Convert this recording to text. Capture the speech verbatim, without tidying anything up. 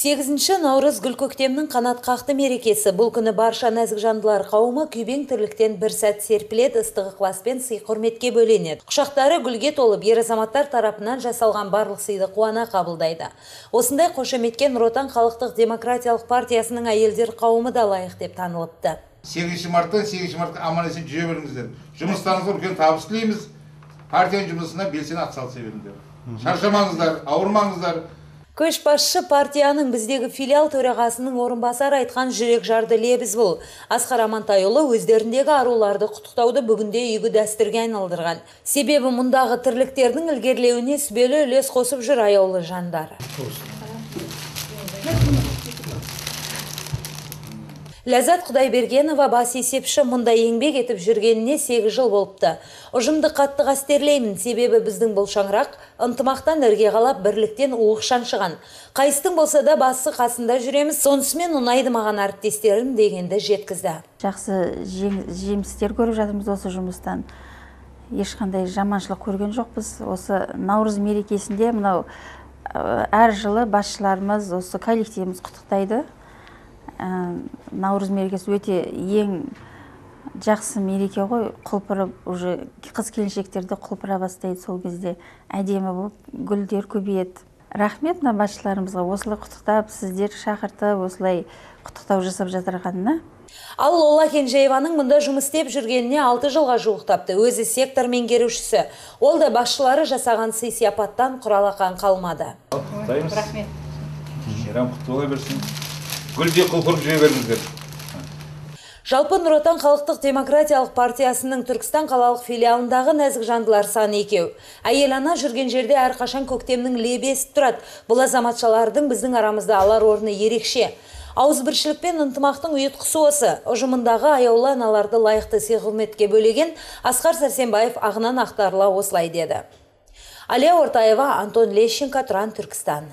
сегізінші наурыз гүл көктемнің қанат қақты мерекесі. Бұл күні барша нәзік жандылар қауымы күйбең тірліктен бір сәт серпілет, ыстық ықыласпен сый құрметке бөленеді. Құшақтары гүлге толып, ер азаматтар тарапынан жасалған барлық сыйды қуана қабылдайды. Осындай қошеметке Нұр Отан халықтық демократиялық партиясының әйелдер қауымы да лайық деп танылыпты. сегізінші марттан сегізінші мартқа аман есен жүре беріңіздер. Жұмыстарыңызға үлкен табыс тілейміз. Партияның жұмысына белсене атсалыса беріңіздер. Шаршамаңыздар, ауырмаңыздар. Көшбасшы партияның біздегі филиал төрағасының орынбасары айтқан жүрек жарды лебіз бұл. Асқар Амантайұлы өздеріндегі аруларды құттықтауды бүгінде игі дәстүрге айналдырған. Себебі мұндағы тірліктердің ілгерілеуіне сүбелі үлес қосып жүр аяулы жандар. Ләззат Құдайбергенова бас есепші мұнда еңбек етіп жүргеніне сегіз жыл болыпты. Ұжымды қатты қастерлеймін, себебі біздің бұл шаңырақ ынтымақтан ірге қалап, бірліктен уық шаншыған. Қайыстың болса да басы қасында жүреміз, сонысымен ұнайды маған әріптестерім дегенді жеткізді. Жақсы жемістер көріп жатырмыз осы жұмыстан. Ешқандай жаманшылық көрген жоқпыз. Осы Наурыз мерекесінде мынау әр жылы басшыларымыз, осы коллективіміз құттықтайды. Наурыз мерекесі өте ең жақсы мереке ғой, құлпырып, уже қыз-келіншектерді құлпыра бастайды, сол кезде әдемі болып, гүлдер көбейеді. Рахмет мына басшыларымызға осылай құттықтап, сіздер шақыртып, осылай құттықтау жасап жатырғанына. Ал Лола Кенжееваның мұнда жұмыс істеп жүргеніне алты жылға жуықтапты. Өзі сектор меңгерушісі. Ол да басшылары жасаған сый сияпаттан құралақан қалмады. Рахмет. Шерам құтты бола берсін. Гүлде құлпырып жүре беріңіздер. Жалпы Нұр Отан халықтық демократиялық партиясының Түркістан қалалық филиалындағы нәзік жандылар саны екеу. Әйел ана жүрген жерде әрқашан көктемнің лебесі тұрады. Бұл азаматшалардың біздің арамызда алар орны ерекше. Ауызбіршілік пен ынтымақтың ұйытқысы осы. Ұжымындағы аяулы аналарды лайықты сый құрметке бөлеген Асқар Сәрсенбаев ағынан ақтарыла осылай деді. Алия Ортаева, Антон Лещенко, Тұран, Түркістан.